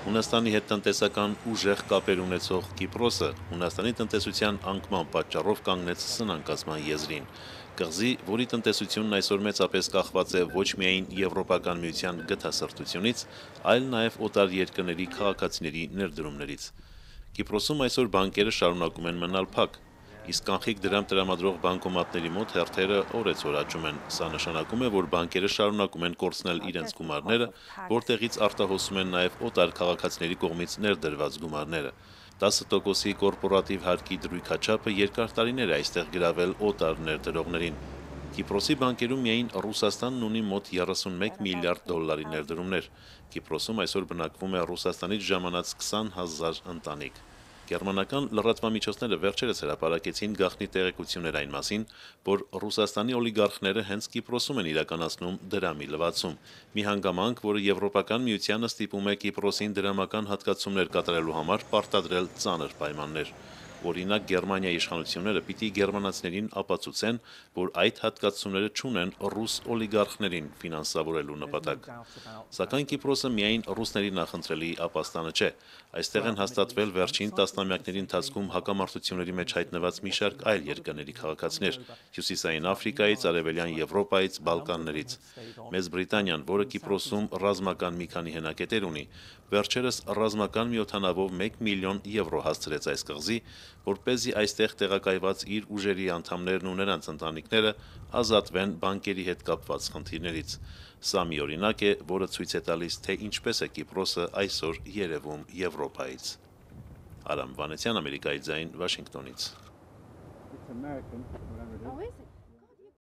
Հունաստանի հետ տնտեսական ուժեղ կապեր ունեցող Կիպրոսը Հունաստանի տնտեսության անկման պատճառով կանգնեց սնանկացման եզրին։ Կղզի, որի տնտեսությունն այսօր մեծապես կախված է ոչ միայն Եվրոպական միության գթասրտությունից, այլ նաև օտար երկրների քաղաքացիների ներդրումներից։ Կիպրոսում այսօր բանկերը շարունակում են մնալ փակ, իսկ կանխիկ դրամ տրամադրող բանկոմատների մոտ հերթերը օրեցօր աճում են։ Սա նշանակում է, որ բանկերը շարունակում են կորցնել իրենց գումարները, որտեղից արտահոսում են նաև օտար քաղաքացիների կողմից ներդրված գումարները։ 10% կորպորատիվ հարկի դրույքաչափը երկար տարիներ է այստեղ գրավել օտար ներդրողներին։ Կիպրոսի բանկերում միայն Ռուսաստանն ունի մոտ 31 միլիարդ դոլարի ներդրումներ։ Կիպրոսում այսօր բնակվում է Ռուսաստանից ժամանած 20,000 ընտանիք։ Գերմանական լրատվամիջոցները վերջերս հրապարակեցին գաղտնի տեղեկություններ այն մասին, որ Ռուսաստանի օլիգարխները հենց Կիպրոսում են իրականացնում դրամի լվացում, մի հանգամանք, որը Եվրոպական միությանը ստիպում է Կիպրոսին դրամական հատկացումներ կատարելու համար պարտադրել ծանր պայմաններ։ Օրինակ, Գերմանիայի իշխանությունները պիտի գերմանացիներին ապացուցեն, որ այդ հատկացումները չունեն ռուս օլիգարխներին ֆինանսավորելու նպատակ։ Սակայն Կիպրոսը միայն ռուսների նախընտրելի ապաստանը չէ։ Այստեղ են հաստատվել վերջին տասնամյակների ընթացքում հակամարտությունների մեջ հայտնված մի շարք այլ երկրների քաղաքացիներ՝ Հյուսիսային Աֆրիկայից, Արևելյան Եվրոպայից, Բալկաններից։ Մեծ Բրիտանիան, որը Կիպրոսում ռազմական մի քանի հենակետեր ունի, վերջերս ռազմական մի օդանավով 1 միլիոն եվրո հասցրեց այս կղզի, որպեսզի այստեղ տեղակայված իր ուժերի անդամներն ու նրանց ընտանիքները ազատվեն բանկերի հետ կապված խնդիրներից։ Սա մի օրինակ է, որը ցույց է տալիս, թե ինչպես է Կիպրոսը այսօր երևում Եվրոպայից։ Արամ Վանեցյան, Ամերիկայի ձայն, Վաշինգտոնից։ It's American, whatever it is. Oh, is it?